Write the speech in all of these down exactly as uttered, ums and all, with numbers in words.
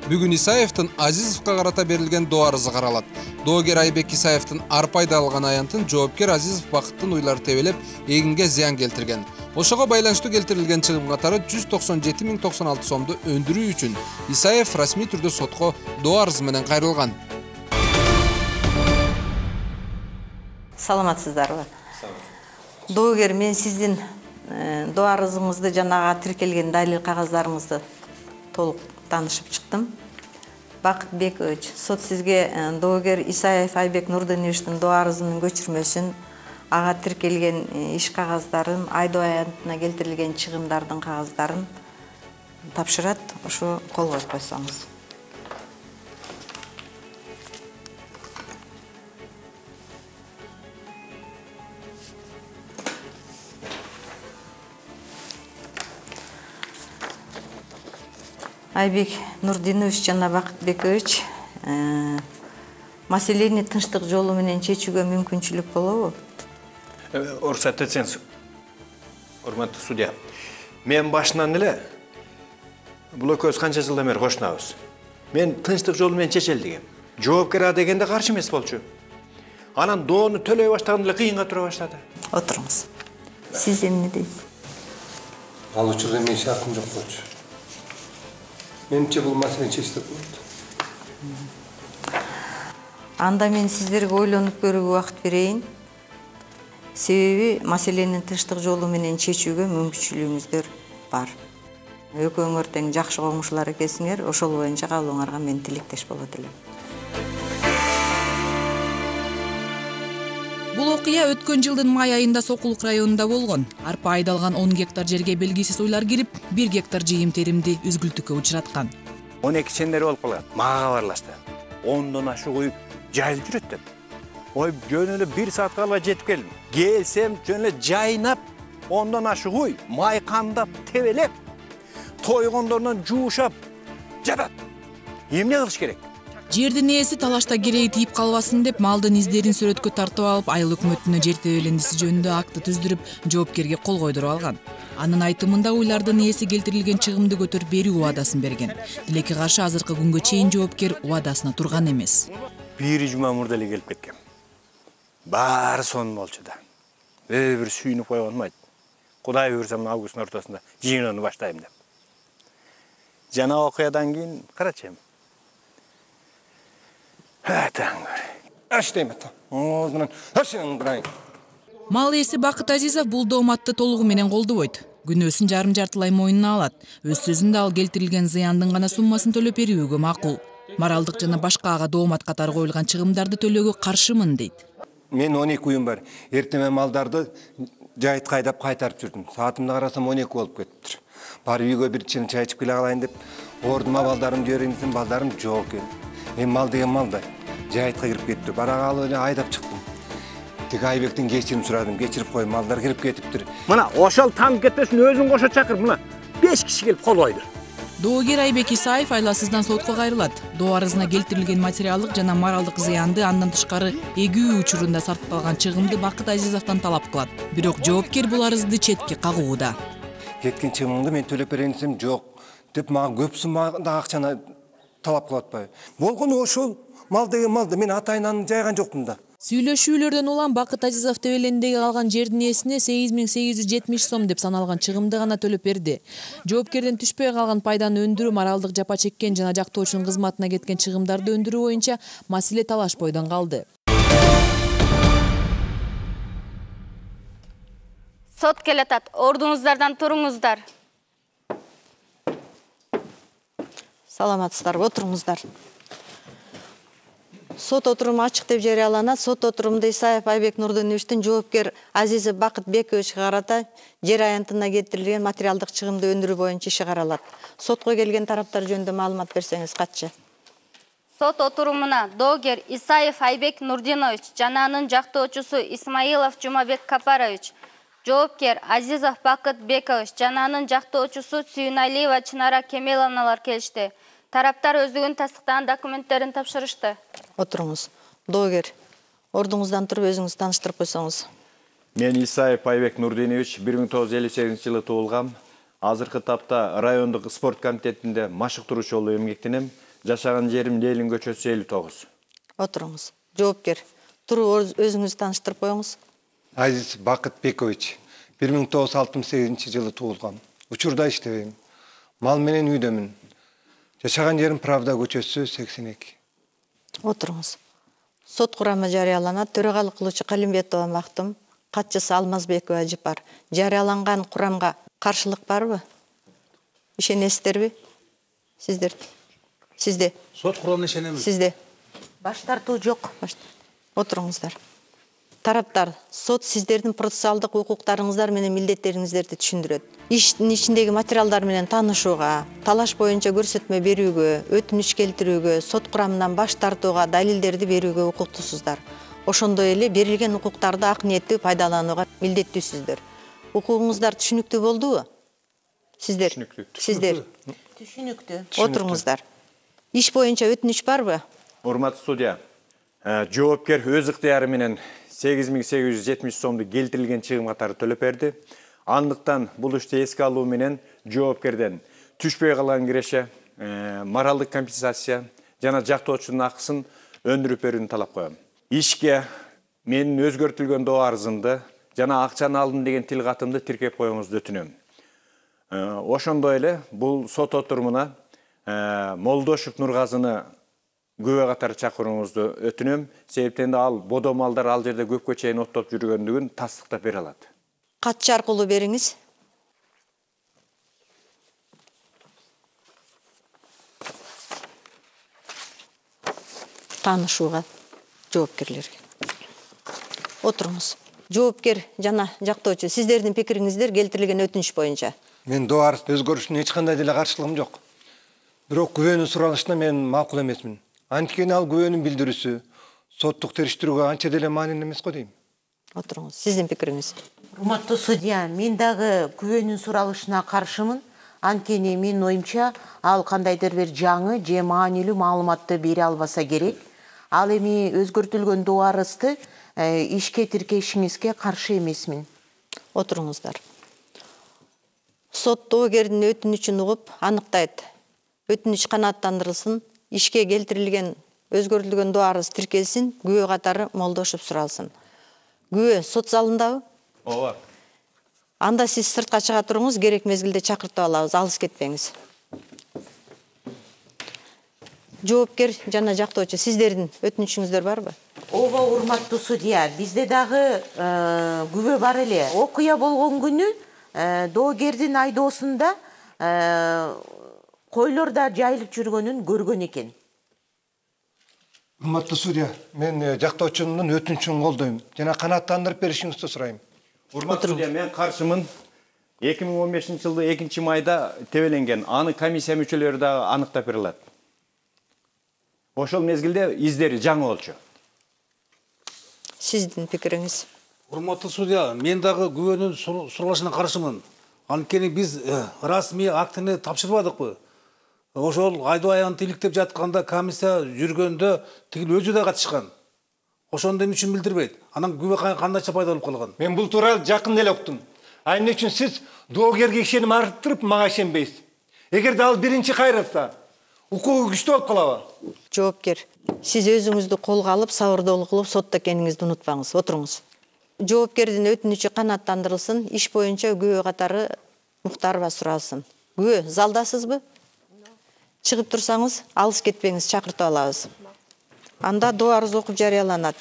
Бүгүн Исаевдин Азизовго карата берилген доо арызы каралат. Доогер Айбек Исаевдин арпайда алган аянтын жоопкер Азизов бакыттын уйлары тебелеп, эгинге зыян келтирген. Ошого байланыштуу келтирилген чыгым катары жүз токсон жети миң токсон алты сомду өндүрүү үчүн Исаев расмий түрдө сотко доо арызы менен кайрылган. Саламатсыздарбы? Доогер, мен сиздин доо арызыңызды жанага тиркелген далил кагаздарыңызды толук таанышып чыктым. Бакыт Бекович, сот сизге доогер Исаев Айбек Нурденовичтин доо арызынын көчүрмөсүн, ага тиркелген иш кагаздарын, айдоо аянтына келтирилген чыгымдардын кагаздарын тапшырат. Ошо кол коюп койсоңуз. Айбек Нурдинович жана Бакыт Бекович, маселени тынчтык жолу менен чечүүгө мүмкүнчүлүк болобу? Уруксат этсеңиз, урматтуу судья. Мен башынан эле бул экөөбүз канча жылдан бери кошунабыз. Мен тынчтык жолу менен чечели дегем. Жоопкер а дегенде каршы эмес болчу. Анан доону төлөй баштаганда эле кыйынга тура баштады. Отуруңуз. Сиз эмне дейсиз? Ал учурда мен шартым жок болчу. Менимче бул маселени чечсек болот. Анда мен сиздерге ойлонуп көрүүгө убакыт берейин. Себеби маселенин тынчтык жолу менен чечүүгө мүмкүнчүлүгүңүздөр бар. Экөөңөр тең жакшы коңшулар экенсиңер, ошол боюнча калууңарга мен тилектеш болот элем. Бул окуя өткөн жылдын май айында Сокулук районунда болгон. Арпа айдалган он гектар жерге белгисиз уйлар кирип, бир гектар жыйым теримди үзгүлтүккө учураткан. он эки чендери болуп калган. Мага кабарлашты. ондон ашык уй жайылып жүрөт деп. Ой, жөн эле бир саатка албай жетип келдим. Келсем жөн эле жайнап, ондон ашык уй майкандап, тебелеп, тойгондорунан жуушап жатат. Эмне кылыш керек? Жердин ээси талашта кереги тийип калбасын деп малдын издерин сүрөткө тартып алып, айыл өкмөтүнө жер тебелендиси жөнүндө акты түздүрүп, жоопкерге кол койдуруп алган. Анын айтымында уйлардын ээси келтирилген чыгымды көтөрүп берүү убадасын берген. Тилекке каршы азыркы күнгө чейин жоопкер убадасына турган эмес. Бир жума мурда эле келип кеткен. Баары сонун болчу да. Өө бир сүйүнүп койгонум айт. Кудай буйрса мына августтун ортосунда жыйынууну баштайм деп. Жана окуядан кийин карачы. Мал ээси Бакыт Азизов бул дооматты толугу менен колдобойт. Күнөөсүн жарым жартылай мойнуна алат. Өз сөзүндө ал келтирилген зыяндын гана суммасын төлөп берүүгө макул. Моралдык жана башка ага доомат катары коюлган чыгымдарды төлөөгө каршымын дейт. Мен он эки уюм бар. Эртеме малдарды жайытка айдап кайтарып жүрдүм. Саатымды карасам он эки болуп кетиптир. Барып үйгө бир чын чай ичип келе калайын деп ордума балдарым жиберген, балдарым жок экен. Эми мал деген мал да. Жайытка кирип кетти. Барак алып эле айдап чыктым. Тик Айбектен кечирим сурадым. Кечирип кой, малдар кирип кетиптир. Мына ошол танып кетпесин өзүң кошо чакыр. Мына беш киши келип кол койду. Доогер Айбек Исаев айласыздан сотко кайрылат. Доо арызына келтирилген материалдык жана моралдык зыянды андан тышкары эгүү учурунда сарпталган чыгымды Бакыт Азизовдон талап кылат. Бирок жоопкер бул арызды четке кагууда. Кеткен чыгымымды мен төлөп берейин десем, жок деп мага көп суммада акчаны талап кылып атпайбы? Болгону ошол. Мал деген малды мен атайын аны жайган жокмун да. Сүйлөшүүлөрдөн улам Бакыт Азизов тебелендеги калган жердин ээсине сегиз миң сегиз жүз жетимиш сом деп саналган чыгымды гана төлөп берди. Жоопкерден түшпөй калган пайданы өндүрүү, моралдык жапа чеккен жана жактоочунун кызматына кеткен чыгымдарды өндүрүү боюнча маселе талаш бойдон калды. Сот келатат. Ордуңуздардан туруңуздар. Саламатсыздарбы? Отуруңуздар. Сот отуруму ачык деп жарыяланат. Сот отурумунда Исаев Айбек Нурденовичтин жоопкер Азизов Бакыт Бековичке карата жер аянтына келтирилген материалдык чыгымды өндүрүү боюнча иши каралат. Сотко келген тараптар жөнүндө маалымат берсеңиз катчы? Сот отурумуна доогер Исаев Айбек Нурдинович жана анын жактоочусу Исмаилов Жумабек Капарович, жоопкер Азизов Бакыт Бекович жана анын жактоочусу Сүйүналиева Чынара Кемеловналар келишти. Тараптар өздүгүн тастыктаган документтерин тапшырышты. Отуруңуз. Доогер, ордуңуздан туруп өзүңүз тааныштырып койсоңуз. Мен Исаев Айбек Нурдинович бир миң тогуз жүз элүү сегизинчи жылы туулгам. Азыркы тапта райондук спорт комитетинде машыктыруучу болуп эмгектенем. жашаган жерим Ленин көчөсү элүү тогуз. Отуруңуз. Жоопкер. Туруп өзүңүздү тааныштырып коюңуз. Азиз Бакыт Бекович, бир миң тогуз жүз алтымыш сегизинчи жылы туулгам. Учурда иштебейм. Мал менен үйдөмүн. Жашаган жерим Правда көчөсү сексен эки. Отуруңуз. Сот курамы жарыяланат. Төрагалык кылуучу Калимбетова Мактум, катчысы Алмазбекова Ажыпар. Жарыяланган курамга каршылык барбы? Ишенесиздерби? Сиздер. Сизде. Сот курамына ишенемин. Сизде. Баш тартуу жок. Отуруңуздар. Тараптар, сот сиздердин процессуалдык укуктарыңыздар менен милдеттериңиздерди түшүндүрөт. Иштин ичиндеги материалдар менен таанышууга, талаш боюнча көрсөтмө берүүгө, өтүнүч келтирүүгө, сот курамынан баш тартууга, далилдерди берүүгө укуктуусуздар. Ошондой эле берилген укуктарды ак ниеттүү пайдаланууга милдеттүүсүздөр. Укугуңуздар түшүнүктүү болдубу? Сиздер. Түшүнүктүү. Сиздер. Түшүнүктүү. Отуруңуздар. Иш боюнча өтүнүч барбы? Урматтуу судья, жоопкер өз ыктыяры менен сегиз миң сегиз жүз жетимиш сомду келтирилген чыгым катары төлөп берди. Андыктан бул ишти эске алуу менен жоопкерден түшпөй калган киреше, моралдык компенсация жана жактоочунун акысын өндүрүп берүүнү талап коем. Ишке менин өзгөртүлгөн доо арызымды жана акчаны алдым деген тил катымды тиркеп коюңузду өтүнөм. Ошондой эле бул сот отурумуна Молдошев Нургазыны күбө катары чакырууңузду өтүнөм. Себептен ал бодо малдар ал жерде көпкө чейин оттоп жүргөндүгүн тастыктап бере алат. Катчы аркылуу бериңиз. Таанышууга жоопкерлерге. Отуруңуз. Жоопкер жана жактоочу, сиздердин пикириңиздер келтирилген өтүнүч боюнча. Мен доо арыз өзгөрүшүнө эч кандай деле каршылыгым жок. Бирок күбөнүн суралышына мен макул эмесмин. Анткени ал күбөнүн билдирүүсү соттук териштирүүгө анча деле маанилүү эмес го дейм. Отуруңуз. Сиздин пикириңиз. Урматтуу судья, мен дагы күбөнүн суралышына каршымын. Анткени менин оюмча ал кандайдыр бир жаңы же маанилүү маалыматты бере албаса керек. Ал эми өзгөртүлгөн доо арызды ишке тиркешиңизге каршы эмесмин. Отуруңуздар. Сот доогердин өтүнүчүн угуп аныктайт. Өтүнүч канааттандырылсын, ишке келтирилген өзгөртүлгөн доо арыз тиркелсин, күбө катары Молдошев суралсын. Күбө сот залындабы? Ооба. Анда сиз сыртка чыга туруңуз, керек мезгилде чакыртып алабыз, алыс кетпеңиз. Жоопкер жана жактоочу, сиздердин өтүнүчүңүздөр барбы? Ооба, урматтуу судья, бизде дагы күбө бар эле. Окуя болгон күнү доогердин айдоосунда койлор да жайылып жүргөнүн көргөн экен. Урматтуу судья, мен жактоочунун өтүнүчүн колдойм жана канааттандырып беришиңизди сурайм. Урматтуу судья, мен каршымын. эки миң он бешинчи жылы экинчи майда тебеленген. Аны комиссия мүчөлөрү да аныктап бере алат. Ошол мезгилде издери жаңы болчу. Сиздин пикириңиз. Урматтуу судья, мен дагы күбөнүн суралышына каршымын. Анткени биз расмий актыны тапшырбадыкпы? Ошол айдоо аянты иликтеп жатканда комиссия жүргөндө тигил өзү да катышкан. Ошондо эмне үчүн билдирбейт? Анан күбө кандайча пайда болуп калган? Мен бул тууралуу жакын эле уктум. А эмне үчүн сиз доогерге ишеним арттырып мага ишенбейсиз? Эгерде ал биринчи кайрылса, укугу күчтүү болуп калабы? Жоопкер, сиз өзүңүздү колго алып, сабырдуулук кылып сотто экениңизди унутпаңыз. Отуруңуз. Жоопкердин өтүнүчү канааттандырылсын, иш боюнча күбө катары Мухтарова суралсын. Күбө, залдасызбы? Чыгып турсаңыз, алыс кетпеңиз, чакыртып алабыз. Анда доо арыз окуп жарыяланат.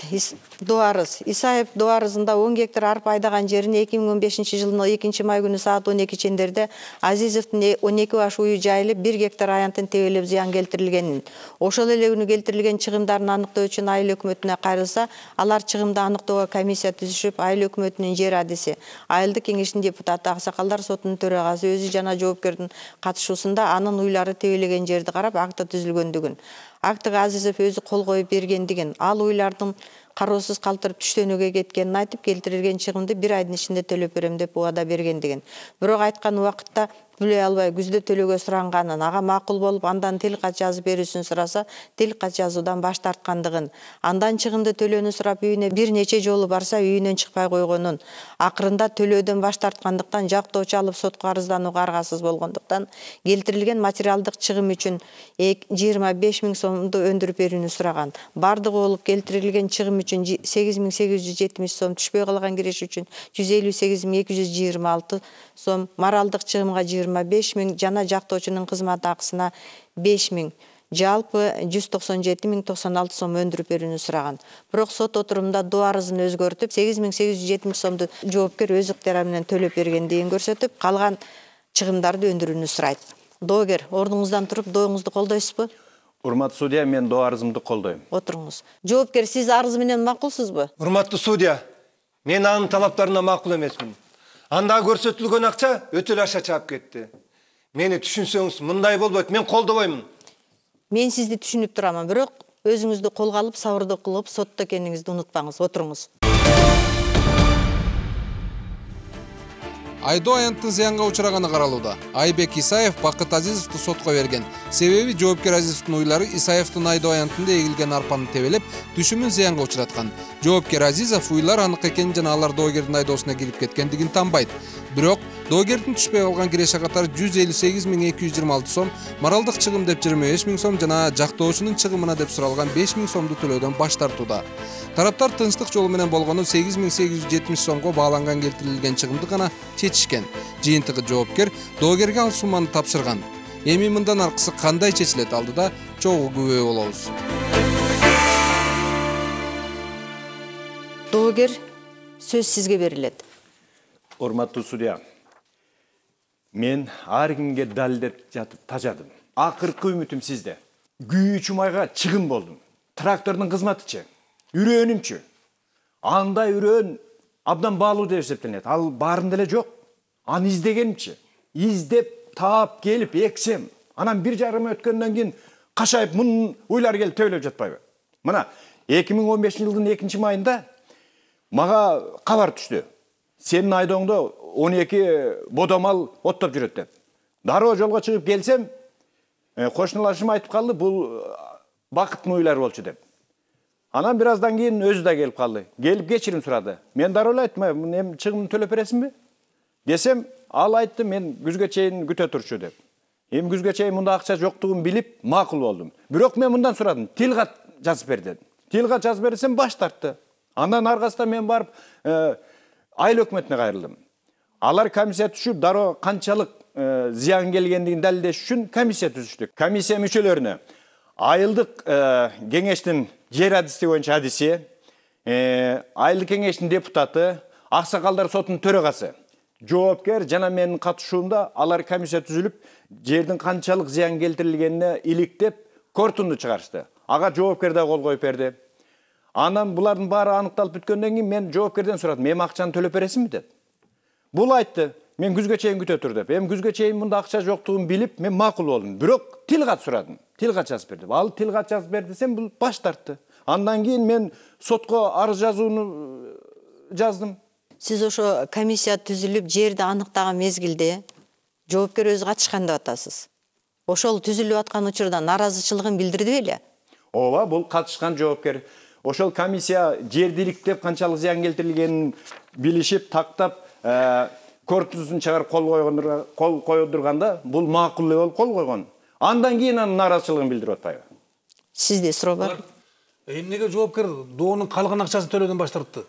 Доо арыз. Исаев доо арызында он гектар арпа айдаган жерин эки миң он бешинчи жылдын экинчи май күнү саат он эки чендерде Азизовдун он эки баш уyu жайылып, бир гектар аянтын тебелеп зыян келтирилгенин, ошол эле күнү келтирилген чыгымдарын аныктоо үчүн айыл өкмөтүнө кайрылса, алар чыгымды аныктоого комиссия түзүшүп, айыл өкмөтүнүн жер адиси, айылдык кеңештин депутаты, аксакалдар сотунун төрагасы өзү жана жоопкердин катышуусунда анын уйлары тебелеген жерди карап акты түзүлгөндүгүн, актыга Азизов өзү кол коюп бергендигин, ал уйлардын кароосуз калтырып түштөнүүгө кеткенин айтып, келтирилген чыгымды бир айдын ичинде төлөп берем деп убада бергендигин. Бирок айткан убакытта төлөй албай күздө төлөөгө суранганын, ага макул болуп андан тил кат жазып берүүсүн сураса, тил кат жазуудан баш тарткандыгын, андан чыгымды төлөөнү сурап үйүнө бир нече жолу барса үйүнөн чыкпай койгонун, акырында төлөөдөн баш тарткандыктан жактоочу алып сотко арызданууга аргасыз болгондуктан келтирилген материалдык чыгым үчүн жыйырма беш миң сомду өндүрүп берүүнү сураган. Бардыгы болуп келтирилген чыгым үчүн сегиз миң сегиз жүз жетимиш сом, түшпөй калган киреш үчүн жүз элүү сегиз миң эки жүз жыйырма алты сом, моралдык чыгымга жыйырма беш миң, жана жактоочунун кызмат акысына беш миң, жалпы жүз токсон жети миң токсон алты сом өндүрүп берүүнү сураган. Бирок сот отурумунда доо арызын өзгөртүп, сегиз миң сегиз жүз жетимиш сомду жоопкер өз ыктыяры менен төлөп бергендигин көрсөтүп, калган чыгымдарды өндүрүүнү сурайт. Доогер, ордуңуздан туруп дооңузду колдойсузбу? Урматтуу судья, мен доо арызымды колдойм. Отуруңуз. Жоопкер, сиз арыз менен макулсузбу? Урматтуу судья, мен анын талаптарына макул эмесмин. Анда көрсөтүлгөн акча өтө аша чаап кетти. Мени түшүнсөңүз, мындай болбойт, мен колдобоймун. Мен сизди түшүнүп турамын, бирок өзүңүздү колго алып, сабырдуу кылып, сотто экениңизди унутпаңыз. Отуруңуз. Айдоо аянттын зыянга учураганы каралууда. Айбек Исаев Бакыт Азизовду сотко берген. Себеби жоопкер Азизовдун уйлары Исаевдин айдоо аянтында эгилген арпаны тебелеп, түшүмүн зыянга учураткан. Жоопкер Азизов уйлар анык экенин жана алар доогердин айдоосуна кирип кеткендигин танбайт. Бирок доогердин түшпөй калган киреше катары жүз элүү сегиз миң эки жүз жыйырма алты сом, моралдык чыгым деп жыйырма беш миң сом жана жактоочунун чыгымына деп суралган беш миң сомду төлөөдөн баш тартууда. Тараптар тынчтык жолу менен болгону сегиз миң сегиз жүз жетимиш сомго бааланган келтирилген чыгымды гана чечишкен. Жыйынтыгы жоопкер доогерге ал сумманы тапшырган. Эми мындан аркысы кандай чечилет алдыда чогуу күбө болобуз. Доогер, сөз сизге берилет. Урматтуу судья, мен ар кимге далилдеп жатып тажадым. Акыркы үмүтүм сизде. Күйүүчү майга чыгым болдум. Трактордун кызматычы, үрөөнүмчү. Андай үрөөн абдан баалуу деп эсептелет. Ал баарында эле жок. Аны издегенчи. Издеп, таап келип эксем, анан бир жарым өткөндөн кийин кашайып мунун уйлар келип төбөлөп жатпайбы? Мына эки миң он бешинчи жылдын экинчи майында мага кабар түштү. Сенин айдооңдо он эки бодомал оттоп жүрөт деп. Дароо жолго чыгып келсем, кошуналашым айтып калды, бул Бакыттын уйлары болчу деп. Анан бир аздан кийин өзү да келип калды. Келип кечирим сурады. Мен дароо эле айттым, эми чыгымды төлөп бересиңби? Десем, ал айтты, мен күзгө чейин күтө турчу деп. Эми күзгө чейин мында акча жоктугун билип, макул болдум. Бирок мен мындан сурадым, тил кат жазып бер дедим. Тил кат жазып берсем баш тартты. Андан аркасында мен барып айыл өкмөтүнө кайрылдым. Алар комиссия түшүп, дароо канчалык зыян келгендигин далилдеш үчүн комиссия түзүштүк. Комиссия мүчөлөрүнө айылдык кеңештин жер адиси боюнча адиси, айылдык кеңештин депутаты, аксакалдар сотунун төрагасы, жоопкер жана менин катышуумда алар комиссия түзүлүп, жердин канчалык зыян келтирилгенине иликтеп, корутунду чыгарышты. Ага жоопкер да кол коюп берди. Анан булардын баары аныкталып бүткөндөн кийин мен жоопкерден сурадым, эми акчаны төлөп бересиңби деп. Бул айтты, мен күзгө чейин күтө тур деп. Эми күзгө чейин мында акча жоктугун билип, мен макул болдум. Бирок тил кат сурадым. Тил кат жазып бер деп. Ал тил кат жазып бер десем, бул баш тартты. Андан кийин мен сотко арыз жазууну жаздым. Сиз ошо комиссия түзүлүп, жерди аныктаган мезгилде жоопкер өзү катышкан деп атасыз. Ошол түзүлүп аткан учурда нааразычылыгын билдирди беле? Ооба, бул катышкан жоопкер. Ошол комиссия жерди иликтеп, канчалык зыян келтирилгенин билишип, тактап, корутуусун чыгарып кол койгондурга, кол койдурганда, бул макул болуп кол койгон. Андан кийин анын нааразычылыгын билдирип атпайбы? Сизде суроо бар? Эмнеге жоопкер доонун калган акчасын төлөөдөн баш тартты?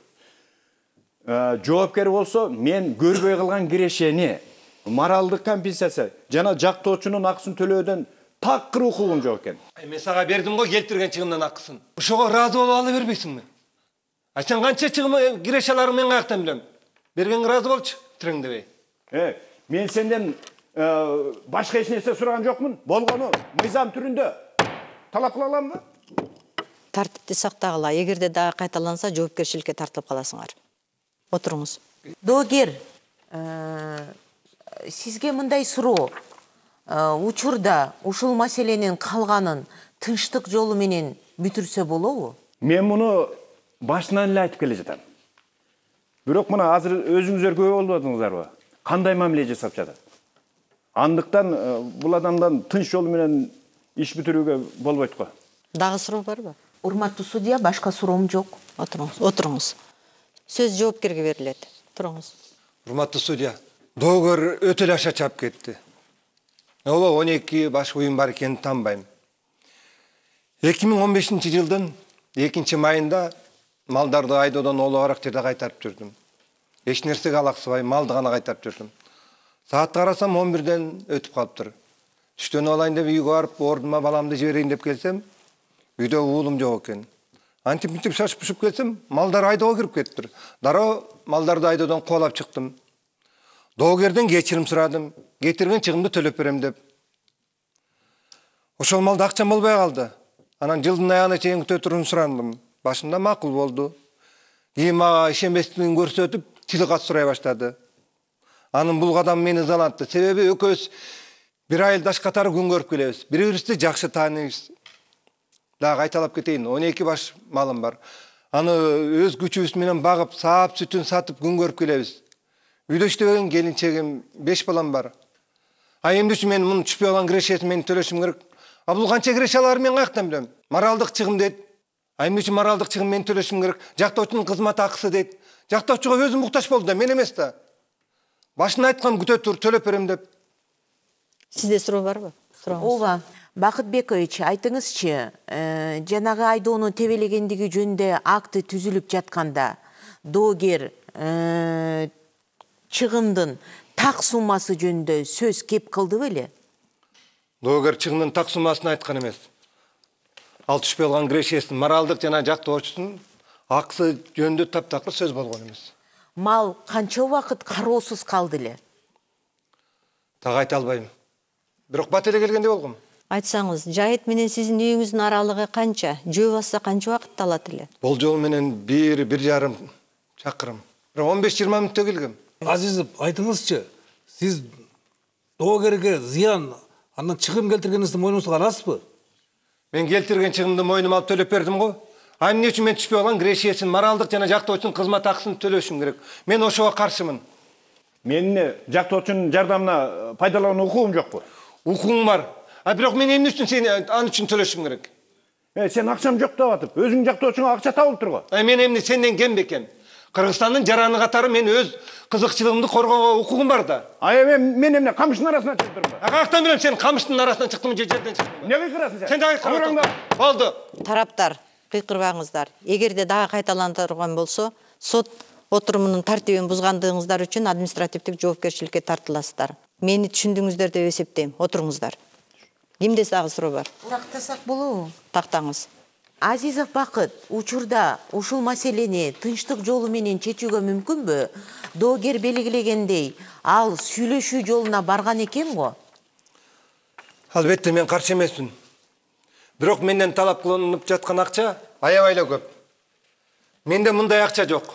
Жоопкер болсо, мен көрбөй калган кирешени, моралдык компенсация жана жактоочунун акысын төлөөдөн такыр укугум жок экен. Мен сага бердим го келтирген чыгымдын акысын. Ошого ыраазы болуп ала бербейсиңби? А сен канча чыгым кирешелерин мен каяктан билем? Бергенге ыраазы болчу, тиреңдебей. Э, мен сенден башка эч нерсе сураган жокмун. Болгону мыйзам түрүндө талап кыла аламбы? Тартипти сактагыла. Эгерде дагы кайталанса, жоопкерчиликке тартылып каласыңар. Отуруңуз. Доогер, сизге мындай суроо. Учурда ушул маселенин калганын тынчтык жолу менен бүтүрсө болобу? Мен муну башынан эле айтып келе жатам. Бирок мына азыр өзүңүздөр күбө болуп атыңыздарбы? Кандай мамиле жасап жатат? Андыктан бул адамдан тынч жол менен иш бүтүрүүгө болбойт го. Дагы суроо барбы? Урматтуу судья, башка суроом жок. Отуруңуз, отуруңуз. Сөз жоопкерге берилет. Туруңуз. Урматтуу судья, доогер өтө эле аша чаап кетти. Ооба он эки баш уюм бар экенин таанбайм. эки миң он бешинчи жылдын экинчи майында малдарды айдоодон ологараак жерде кайтарып жүрдүм. Эч нерсеге алаксыбай малды гана кайтарып жүрдүм. Саатты карасам он бирден өтүп калыптыр. Түштөн алайын деп үйгө барып, ордума баламды жиберейин деп келсем, үйдө уулум жок экен. Антип мынтип шашып пушуп келсем, малдар айдоого кирип кетиптир. Дароо малдарды айдоодон кубалап чыктым. Доогерден кечирим сурадым, кетирген чыгымды төлөп берем деп. Ошол малда акчам болбой калды. Анан жылдын аягына чейин күтө турууну сурандым. Башында макул болду. Кийин мага ишенбестигин көрсөтүп, тил кат сурай баштады. Анын бул кадамы мени ызалантты. Себеби экөөбүз бир айылдаш катары күн көрүп келебиз. Бири-бирибизди жакшы тааныйбыз. Дагы кайталап кетейин, он эки баш малым бар. Аны өз күчүбүз менен багып, саап сүтүн сатып күн көрүп келебиз. Үйдө иштебеген келинчегим, беш балам бар. А эмне үчүн мен мунун түшпөй калган кирешесин мен төлөшүм керек? А бул канча киреше аларын мен каяктан билем? Моралдык чыгым дейт. А эмне үчүн моралдык чыгым мен төлөшүм керек? Жактоочунун кызмат акысы дейт. Жактоочуга өзү муктаж болду да, мен эмес да. Башын айткам, күтө тур, төлөп берем деп. Сизде суроо барбы? Сурооңуз. Ооба. Бакыт Бекович, айтыңызчы, жанагы айдоону тебелегендиги жөнүндө акты түзүлүп жатканда доогер чыгымдын так суммасы жөнүндө сөз кеп кылды беле? Доогер чыгымдын так суммасын айткан эмес. Ал түшпөй калган кирешесин, моралдык жана жактоочусунун акысы жөнүндө таптакыр сөз болгон эмес. Мал канча убакыт кароосуз калды эле? Так айта албайм. Бирок бат эле келгенде болгом. Айтсаңыз, Жайыт менен сиздин үйүңүздүн аралыгы канча? Жөө басса канча убакытты алат эле? Болжол менен бир, бир жарым чакырым. Бирок он беш жыйырма мүнөттө келгем. Азизов, айтыңызчы, сиз доогерге зыян, андан чыгым келтиргениңизди мойнуңузга аласызбы? Мен келтирген чыгымды мойнума алып төлөп бердим го. А эмне үчүн мен түшпөй калган кирешесин, моралдык жана жактоочунун кызмат акысын төлөшүм керек? Мен ошого каршымын. Менин жактоочунун жардамына пайдалануу укугум жокпу? Укугуң бар. А бирок мен эмне үчүн сени ан үчүн төлөшүм керек? Э, сен акчам жок деп атып, өзүң жактоочуңа акча табылып турго. А мен эмне сенден кем бекен? Кыргызстандын жараны катары мен өз кызыкчылыгымды коргоого укугум бар да. А эми мен эмне камыштын арасынан чыгып турмун? А каяктан билем сен камыштын арасынан чыктыңбы же жерден чыктыңбы? Эмне кыйкырасың сен? Сен дагы кыйкырбаңдар. Болду. Тараптар, кыйкырбаңыздар. Эгерде дагы кайталандырылган болсо, сот отурумунун тартибин бузгандыгыңыздар үчүн административдик жоопкерчиликке тартыласыздар. Мени түшүндүңүздөр деп эсептейм. Отуруңуздар. Кимде дагы суроо бар? Тактасак болобу? Тактаңыз. Азизов Бакыт, учурда ушул маселени тынчтык жолу менен чечүүгө мүмкүнбү? Доогер белгилегендей, ал сүйлөшүү жолуна барган экен го. Албетте мен каршы эмесмин. Бирок менден талап кылынып жаткан акча аябай эле көп. Менде мындай акча жок.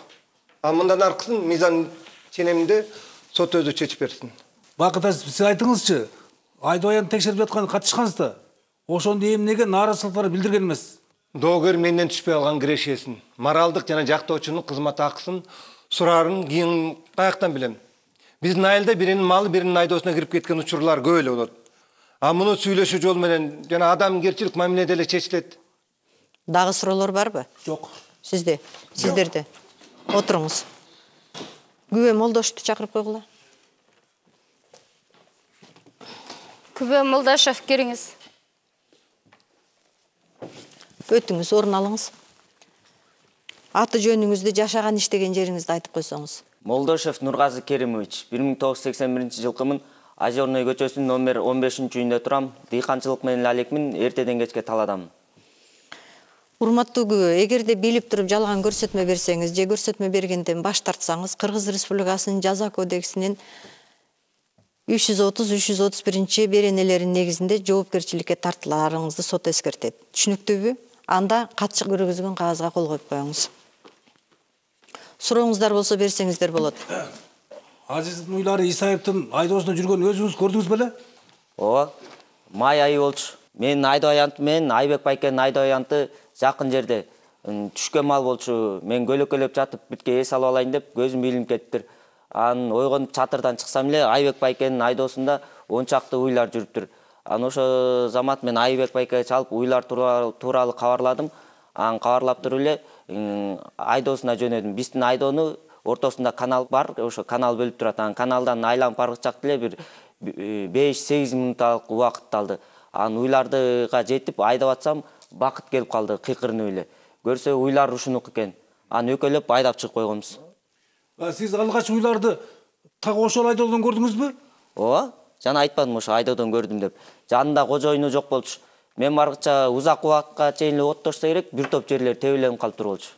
А мындан аркысын мыйзам ченеминде сот өзү чечип берсин. Бакыт Азизов, сиз айтыңызчы, айдоо аянты текшерип жаткан катышкансызда, ошондо эмнеге нааразычылыктарды билдирген эмес? Доогер менден түшпөй калган кирешесин, моралдык жана жактоочунун кызмат акысын сураарын кийин каяктан билем? Биздин айылда биринин малы биринин айдоосуна кирип кеткен учурлар көп эле болот. А муну сүйлөшүү жол менен жана адамгерчилик мамиледе эле чечилет. Дагы суроолор барбы? Жок. Сизде, сиздерде. Отуруңуз. Күбө Молдошевду чакырып койгула. Күбө Молдошев, кириңиз. Өтүңүз, орун алыңыз. Аты жөнүңүздү, жашаган иштеген жериңизди айтып койсоңуз. Молдошев Нургазы Керимович, бир миң тогуз жүз сексен биринчи жылкымын, Озерный көчөсүнүн номер он бешинчи үйүндө турам, дыйканчылык менен алекмин, эртеден кечке таладам. Урматтуу күбө, эгерде билип туруп жалган көрсөтмө берсеңиз же көрсөтмө бергенден баш тартсаңыз, Кыргыз Республикасынын жаза кодексинин үч жүз отуз үч жүз отуз биринчи беренелеринин негизинде жоопкерчиликке тартыларыңызды сот эскертет. Түшүнүктүүбү? Анда катчык көргөзгөн кагазга кол коюп коюңуз. Сурооңуздар болсо берсеңиздер болот. Азиздин уйлары Исаевдин айдоосунда жүргөнүн өзүңүз көрдүңүз беле? Ооба. Май айы болчу. Менин айдоо аянты менен Айбек байкенин айдоо аянты жакын жерде. Түшкөн мал болчу. Мен көлөкөлөп жатып бүтке эс алып алайын деп көзүм илинип кетиптир. Анын ойгонуп чатырдан чыксам эле Айбек байкенин айдоосунда он чакты уйлар жүрүптүр. Анан ошо замат мен Айбек байкеге чалып уйлар тууралуу кабарладым. Анан кабарлап туруп эле айдоосуна жөнөдүм. Биздин айдоону ортосунда канал бар, ошо канал бөлүп турат. Анан каналдан айланып баргы чакта эле бир беш сегиз минутталык убакыт алды. Анан уйлардыга жетип айдап атсам, бакыт келип калды кыйкырынып эле. Көрсө уйлар ушунук экен. Анан өкөлөп айдап чыгып койгонбуз. Сиз алгач уйларды так ошол айдоодон көрдүңүзбү? Ооба, жана айтпадым ошо айдоодон көрдүм деп. Жанында кожоюну жок болчу. Мен баргыча узак убакытка чейин эле оттошто керек, бир топ жерлер тебеленип калып туруп болчу.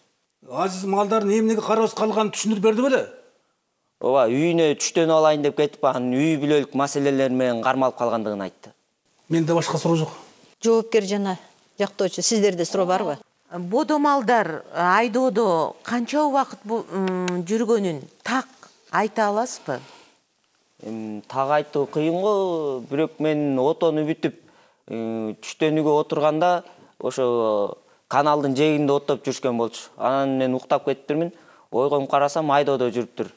Азиз малдардын эмнеге карабыз калганын түшүндүрүп берди беле? Ооба, үйүнө түштөнүп алайын деп кетип, анан үй бүлөлүк маселелер менен кармалып калгандыгын айтты. Менде башка суроо жок. Жоопкер жана жактоочу, сиздерде суроо барбы? Бодо малдар айдоодо канча убакыт жүргөнүн так айта аласызбы? Так айтуу кыйын го, бирок мен отону бүтүп, түштөнүүгө отурганда ошо каналдын жээгинде оттоп жүрүшкөн болчу. Анан мен уктап кетиптирмин. Ойгонуп карасам айдоодо жүрүптүр.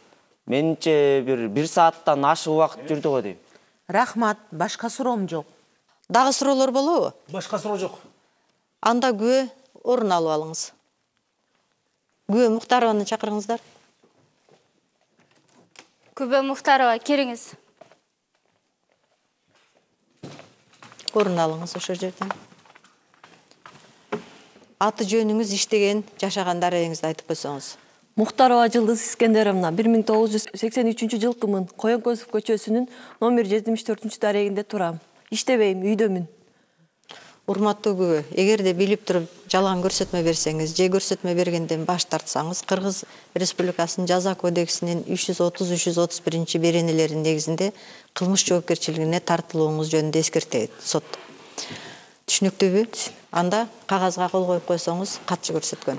Менимче бир бир сааттан ашык убакыт жүрдү го дейм. Рахмат, башка суроом жок. Дагы суроолор болобу? Башка суроо жок. Анда күбө орун алып алыңыз. Күбө Мухтарованы чакырыңыздар. Күбө Мухтарова, кириңиз. Орун алыңыз ошол жерден. Аты жөнүңүз, иштеген, жашаган дарегиңизди айтып койсоңуз. Мухтарова Жылдыз Искендеровна, бир миң тогуз жүз сексен үчүнчү жылкымын. Коенкөзов көчөсүнүн номер жетимиш төртүнчү дарегинде турам. Иштебейм, үйдөмүн. Урматтуу күбө, эгерде билип туруп жалган көрсөтмө берсеңиз, же көрсөтмө бергенден баш тартсаңыз, Кыргыз Республикасынын жаза кодексинин үч жүз отуз үч жүз отуз биринчи беренелеринин негизинде кылмыш жоопкерчилигине тартылууңуз жөнүндө эскертет сот. Түшүнүктүүбү? Анда кагазга кол коюп койсоңуз, катчы көрсөткөн.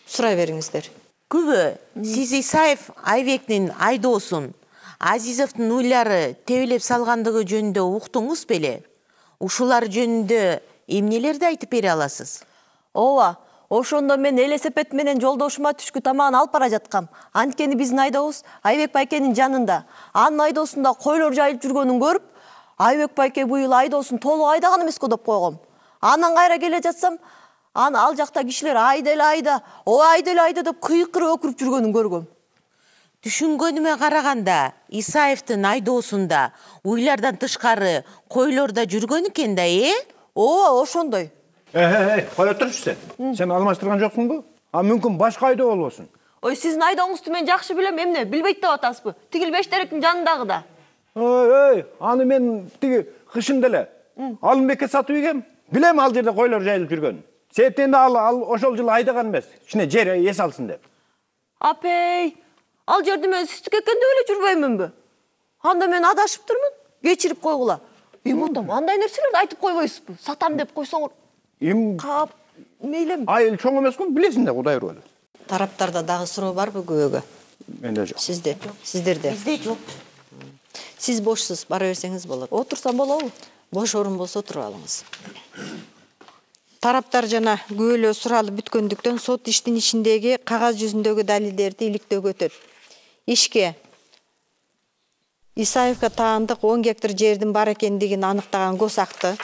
Сурай бериңиздер. Күбө, сиз Исаев Айбектин айдоосун Азизовдун уйлары тебелеп салгандыгы жөнүндө уктуңуз беле? Ушулар жөнүндө эмнелерди айтып бере аласыз? Ооба, ошондо мен велосипед менен жолдошума түшкү тамагын алып бара жаткам. Анткени биздин айдообуз Айбек байкенин жанында. Анын айдоосунда койлор жайылып жүргөнүн көрүп, Айбек байке быйыл айдоосун толук айдаган эмес го деп койгом. Анан кайра келе жатсам, аны ал жакта кишилер айда эле айда, о айда эле айда деп кыйкырып өкүрүп жүргөнүн көргөм. Түшүнгөнүмө караганда, Исаевдин айдоосунда уйлардан тышкары койлор да жүргөн экен да, э? Ооба, ошондой. Э, кое турчу сен. Сен алмаштырган жоксуңбу? А мүмкүн башка айдоо болбосун. Ой, сиздин айдооңузду мен жакшы билем, эмне, билбейт деп атасызбы? Тигил Бештеректин жанындагы да. Ой, ой, аны мен тиги кышында эле Алымбекке сатып ийгем. Билем ал жерде койлор жайылып жүргөнүн. Сетенде ал ал ошол жылы айдаган эмес. Кичине жер эс алсын деп. Апей, ал жерде мен сиздик экен деп эле жүрбөймүнбү? Анда мен адашыптырмын, кечирип койгула. Эми отом, андай нерселерди айтып койбойсузбу? Сатам деп койсоңор. Эми кап, мейлем. Айыл чоң эмес го, билесиң да, Кудай ыргы. Тараптарда дагы суроо барбы күбөгө? Менде жок. Сизде? Сиздерде? Бизде жок. Сиз бошсуз, бара берсеңиз болот. Отурсам болобу? Бош орун болсо туруп алыңыз. Тараптар жана күбөлөө суралып бүткөндүктөн сот иштин ичиндеги кагаз жүзүндөгү далилдерди иликтөөгө өтөт. Ишке Исаевка таандык он гектар жердин бар экендигин аныктаган госакты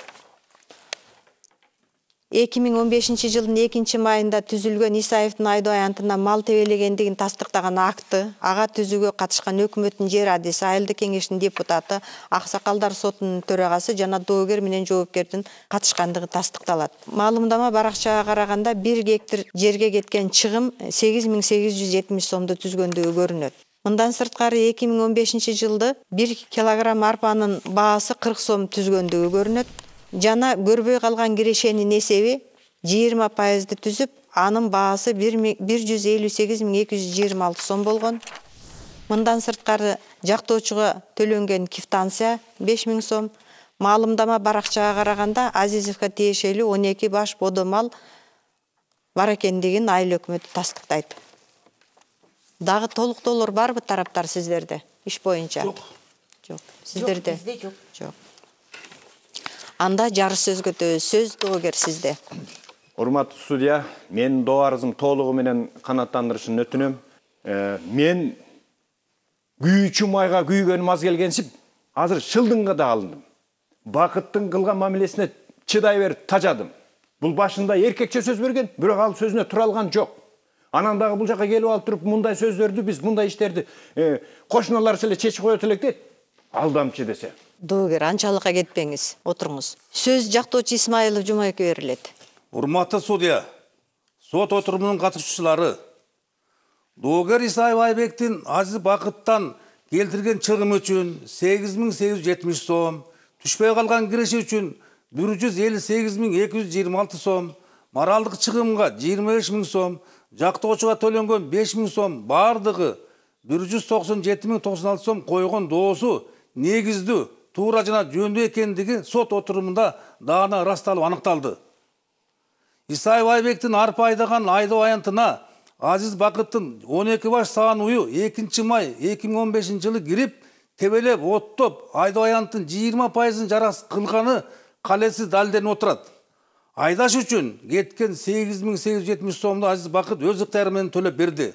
эки миң он бешинчи жылдын экинчи майында түзүлгөн Исаевдин айдоо аянтына мал тебелегендигин тастыктаган акты, ага түзүүгө катышкан өкмөттүн жер адиси, айылдык кеңештин депутаты, Аксакалдар сотунун төрагасы жана доогер менен жоопкердин катышкандыгы тастыкталат. Маалымдама баракчага караганда бир гектар жерге кеткен чыгым сегиз миң сегиз жүз жетимиш сомду түзгөндүгү көрүнөт. Мындан сырткары эки миң он бешинчи жылды бир килограмм арпанын баасы кырк сом түзгөндүгү көрүнөт. Жана көрбөй калган кирешенин эсеби жыйырма пайызды түзүп, анын баасы бир жүз элүү сегиз миң эки жүз жыйырма алты сом болгон. Мындан сырткары жактоочуга төлөнгөн квитанция беш миң сом. Маалымдама баракчага караганда Азизовго тиешелүү он эки баш бодо мал бар экендигин айыл өкмөтү тастыктайт. Дагы толуктоолор барбы тараптар сиздерде иш боюнча? Жок. Жок. Сиздерде? Бизде жок. Жок. Анда жарыш сөзгө өтөбүз. Сөз доогер сизде. Урматтуу судья, менин доо арызым толугу менен канааттандырышын өтүнөм. Мен күйүүчү майга күйгөнүм аз келгенсип, азыр шылдыңга да алындым. Бакыттын кылган мамилесине чыдай берип тажадым. Бул башында эркекче сөз берген, бирок ал сөзүнө тура алган жок. Анан дагы бул жака келип алып туруп, мындай сөздөрдү биз мындай иштерди кошуналарча эле чечип коет элек дейт. Алдамчы десе. Доогер, анчалыкка кетпеңиз, отуруңуз. Сөз жактоочу Исмаилов Жумабекке берилет. Урматтуу судья, сот отурумунун катышуучулары, доогер Исаев Айбектин Азиз Бакыттан келтирген чыгым үчүн сегиз миң сегиз жүз жетимиш сом, түшпөй калган киреше үчүн бир жүз элүү сегиз миң эки жүз жыйырма алты сом, моралдык чыгымга жыйырма беш миң сом, жактоочуга төлөнгөн беш миң сом бардыгы бир жүз токсон жети миң токсон алты сом койгон доосу негиздүү, туура жана жөндүү экендиги сот отурумунда даана ырасталып аныкталды. Исаев Айбектин арпа айдаган айдоо аянтына Азиз Бакыттын он эки баш саан ую экинчи май эки миң он бешинчи жылы кирип, тебелеп, оттоп, айдоо аянтын жыйырма пайызын жарас кылганы калеси далилденип отурат. Айдаш үчүн кеткен сегиз миң сегиз жүз жетимиш сомду Азиз Бакыт өз ыктыяры менен төлөп берди.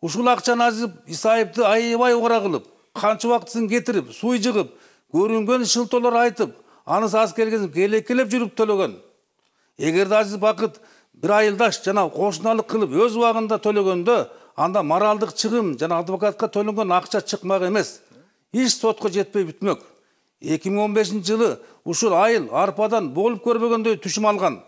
Ушул акчаны Азиз Исаевди аябай угара кылып, канча убактысын кетирип, суй жыгып, көрүнгөн шылтоолор айтып, анысы аз келген келекелеп жүрүп төлөгөн. Эгерде Азиз Бакыт бир айылдаш жана кошуналык кылып өз убагында төлөгөндө, анда моралдык чыгым жана адвокатка төлөнгөн акча чыкмак эмес. Иш сотко жетпей бүтмөк. эки миң он бешинчи жылы ушул айыл арпадан болуп көрбөгөндөй түшүм алган.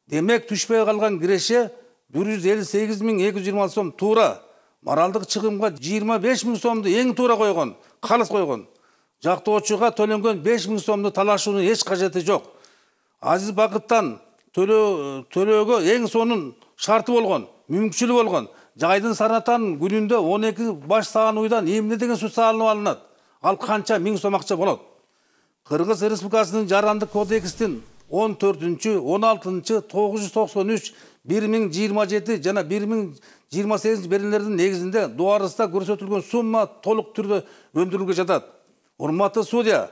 Демек түшпөй калган киреше бир жүз элүү сегиз миң эки жүз жыйырма алты сом туура. Моралдык чыгымга жыйырма беш миң сомду эң туура койгон, калыс койгон. Жактоочуга төлөнгөн беш миң сомду талашуунун эч кажети жок. Азиз Бакыттан төлөөгө эң сонун шарты болгон, мүмкүнчүлүгү болгон. Жайдын санатанын күнүндө он эки баш саан уйдан эмне деген сут салынып алынат? Ал канча миң сом акча болот? Кыргыз Республикасынын Жарандык кодекстин он төртүнчү, он алтынчы, тогуз жүз токсон үч, бир миң жыйырма жети жана бир миң жыйырма сегизинчи беренелердин негизинде дуарыста көрсөтүлгөн сумма толук түрдө өндүрүлгө жатат. Урматтуу судья,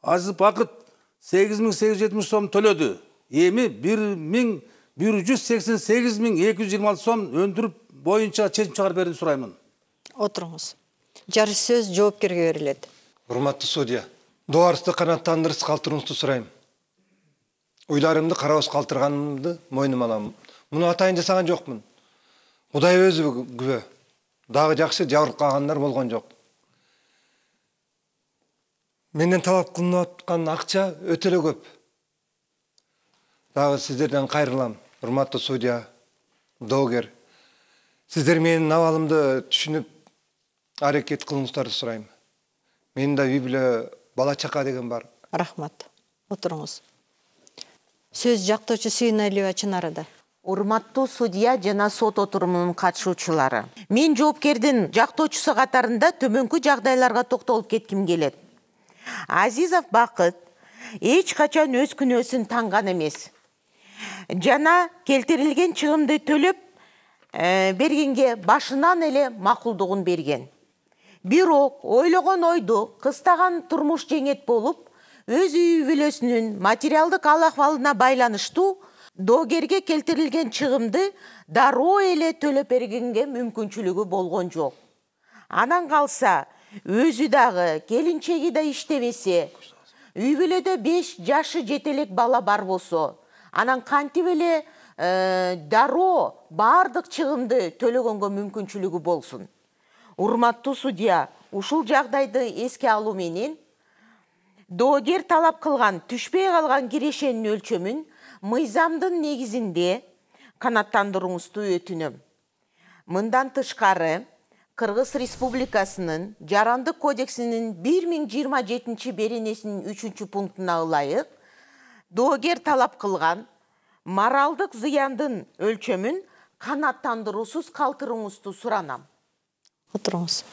Азиз Бакыт сегиз миң сегиз жүз жетимиш сом төлөдү. Эми бир миң бир жүз сексен сегиз миң эки жүз жыйырма алты сом өндүрүп боюнча чечим чыгарып берүүнү сураймын. Отуруңуз. Жарыш сөз жоопкерге берилет. Урматтуу судья, дуарысты канааттандырып калтырууңузду сурайм. Уйларымды карабыз калтырганымды мойнума алам. Муну атайын жасаган жокмун. Кудай өзү күбө. Дагы жакшы жабырып калгандар болгон жок. Менден талап кылынып аткан акча өтө эле көп. Дагы сиздерден кайрылам, урматтуу судья, доогер. Сиздер менин абалымды түшүнүп, аракет кылыңыздарды сурайм. Менин да үй бүлө, бала чака деген бар. Рахмат. Отуруңуз. Сөз жактоочу Сүйүнөлү Чынарыда. Урматтуу судья жана сот отурумунун катышуучулары. Мен жоопкердин жактоочусу катарында төмөнкү жагдайларга токтолуп кетким келет. Азизов Бакыт эч качан өз күнөөсүн танган эмес. Жана келтирилген чыгымды төлөп бергенге башынан эле макулдугун берген. Бирок ойлогон ойду кыстаган турмуш жеңет болуп, өз үй бүлөсүнүн материалдык ал-акыбалына байланыштуу доогерге келтирилген чыгымды дароо эле төлөп бергенге мүмкүнчүлүгү болгон жок. Анан калса, өзү дагы келинчеги да иштебесе, үй бүлөдө беш жашы жетелек бала бар болсо, анан кантип эле дароо бардык чыгымды төлөгөнгө мүмкүнчүлүгү болсун. Урматтуу судья, ушул жагдайды эске алуу менен доогер талап кылган түшпөй калган кирешенин өлчөмүн мыйзамдын негизинде канааттандырууңузду өтүнөм. Мындан тышкары, Кыргыз Республикасынын Жарандык кодексинин бир миң жыйырма жетинчи беренесинин үчүнчү пунктуна ылайык, доогер талап кылган моралдык зыяндын өлчөмүн канааттандыруусуз калтырууңузду суранам. Отуруңуз.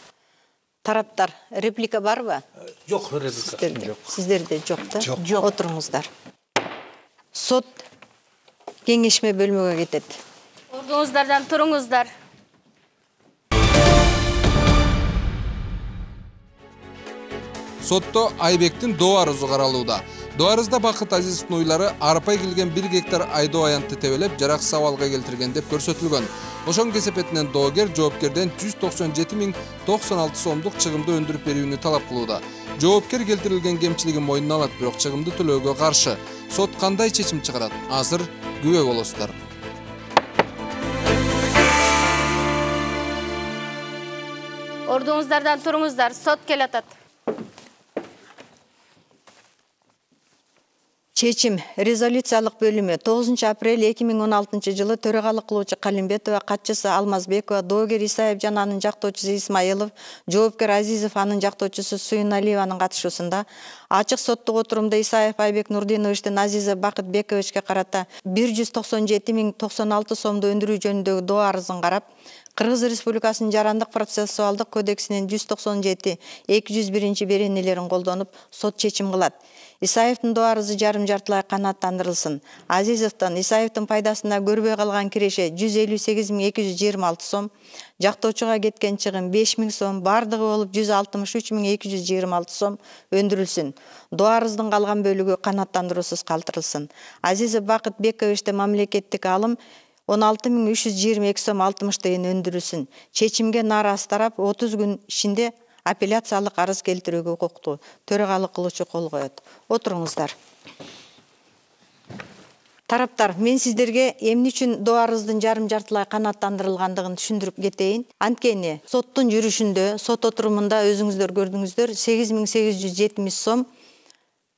Тараптар, реплика барбы? Жок, реплика. Жок. Сиздерде жок да? Жок. Отуруңуздар. Сот кеңешме бөлмөгө кетет. Ордуңуздардан туруңуздар. Сотто Айбектин доо арызы каралууда. Доо арызда Бакыт Азизовдун уйлары арпа келген бир гектар айдоо аянтты тебелеп, жараксыз абалга келтирген деп көрсөтүлгөн. Ошонун кесепетинен доогер жоопкерден жүз токсон жети миң токсон алты сомдук чыгымды өндүрүп берүүнү талап кылууда. Жоопкер келтирилген кемчилигин мойнуна алат, бирок чыгымды төлөөгө каршы. Сот кандай чечим чыгарат? Азыр күбө болосуздар. Ордуңуздардан туруңуздар, сот келатат. Чечим резолюциялык бөлүмү тогузунчу апрель эки миң он алтынчы жылы төрагалык кылуучу Калимбетова, катчысы Алмазбекова, доогер Исаев жана анын жактоочусу Исмаилов, жоопкер Азизов анын жактоочусу Суйналиеванын катышуусунда ачык соттук отурумда Исаев Айбек Нурдиновичтин Азизов Бакытбековичке карата бир жүз токсон жети миң токсон алты сомду өндүрүү жөнүндөгү доо арызын карап, Кыргыз Республикасынын Жарандык процессуалдык кодексинин жүз токсон жети эки жүз биринчи беренелерин колдонуп, сот чечим кылат. Исаевдин доо арызы жарым жартылай канааттандырылсын. Азизовдон Исаевдин пайдасына көрбөй калган киреше жүз элүү сегиз миң эки жүз жыйырма алты сом, жактоочуга кеткен чыгым беш миң сом, бардыгы болуп жүз алтымыш үч миң эки жүз жыйырма алты сом өндүрүлсүн. Доо арыздын калган бөлүгү канааттандыруусуз калтырылсын. Азизов Бакытбековичте мамлекеттик алым он алты миң үч жүз жыйырма эки сом алтымыш тыйын өндүрүлсүн. Чечимге нааразы тарап отуз күн ичинде апелляциялык арыз келтирүүгө укуктуу. Төрагалык кылуучу кол коет. Отуруңуздар. Тараптар, мен сиздерге эмне үчүн доо арыздын жарым жартылай канааттандырылгандыгын түшүндүрүп кетейин. Анткени соттун жүрүшүндө, сот отурумунда өзүңүздөр көрдүңүздөр, сегиз миң сегиз жүз жетимиш сом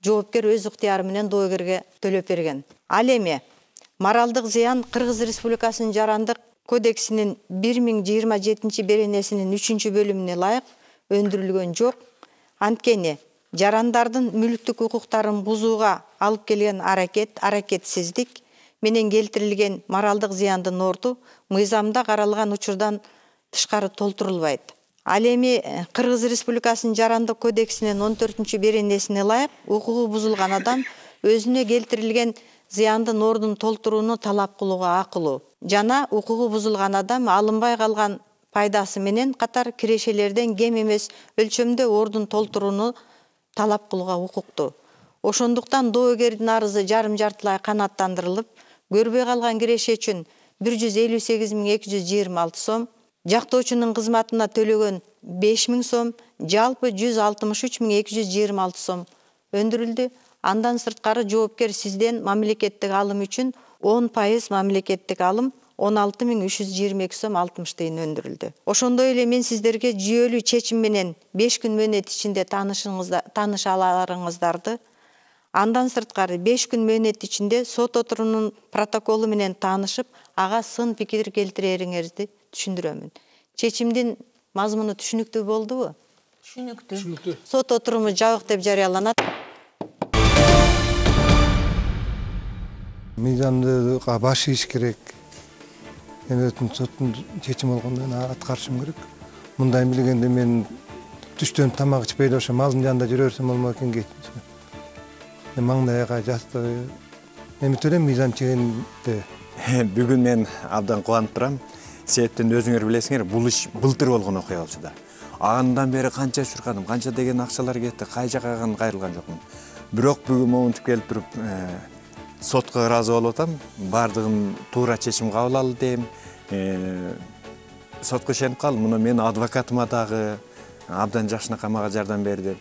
жоопкер өз ыктыяры менен доогерге төлөп берген. Ал эми моралдык зыян Кыргыз Республикасынын Жарандык кодексинин бир миң жыйырма жетинчи беренесинин үчүнчү бөлүмүнө ылайык өндүрүлгөн жок. Анткени жарандардын мүлктүк укуктарын бузууга алып келген аракет, аракетсиздик менен келтирилген моралдык зыяндын орду мыйзамда каралган учурдан тышкары толтурулбайт. Ал эми Кыргыз Республикасынын Жарандык кодексинин он төртүнчү беренесине ылайык укугу бузулган адам өзүнө келтирилген зыяндын ордун толтурууну талап кылууга акылуу. Жана укугу бузулган адам алынбай калган пайдасы менен катар кирешелерден кем эмес өлчөмдө ордун толтурууну талап кылууга укуктуу. Ошондуктан доогердин арызы жарым жартылай канааттандырылып, көрбөй калган киреше үчүн бир жүз элүү сегиз миң эки жүз жыйырма алты сом, жактоочунун кызматына төлөгөн беш миң сом, жалпы жүз алтымыш үч миң эки жүз жыйырма алты сом өндүрүлдү. Андан сырткары жоопкер сизден мамлекеттик алым үчүн он пайыз мамлекеттик алым он алты миң үч жүз жыйырма эки сом алтымыш тыйын өндүрүлдү. Ошондой эле мен сиздерге жүйөлүү чечим менен беш күн мөөнөт ичинде тааныша аларыңыздарды, андан сырткары беш күн мөөнөт ичинде сот отурумунун протоколу менен таанышып, ага сын пикир келтирериңерди түшүндүрөмүн. Чечимдин мазмуну түшүнүктүү болдубу? Түшүнүктүү. Сот отуруму жабык деп жарыяланат. Мыйзамды баш ийиш керек. Эми соттун чечими болгондо аткарышым керек. Мындай билгенде мен түштөн тамак ичпей ошо малдын жанында жүрө берсем болмок экен кетчи. Маңдайга жасты. Эми төлөм мыйзам чегинде. Бүгүн мен абдан кубанып турам. Себептен өзүңөр билесиңер, бул иш былтыр болгон окуя болчу да. Андан бери канча чуркадым, канча деген акчалар кетти, кай жакка кайрылган жокмун. Бирок бүгүн момунтип келип туруп сотко ыраазы болуп атам. Бардыгын туура чечим кабыл алды дейм. Сотко ишенип калдым. Муну менин адвокатыма дагы абдан жакшынакай мага жардам берди.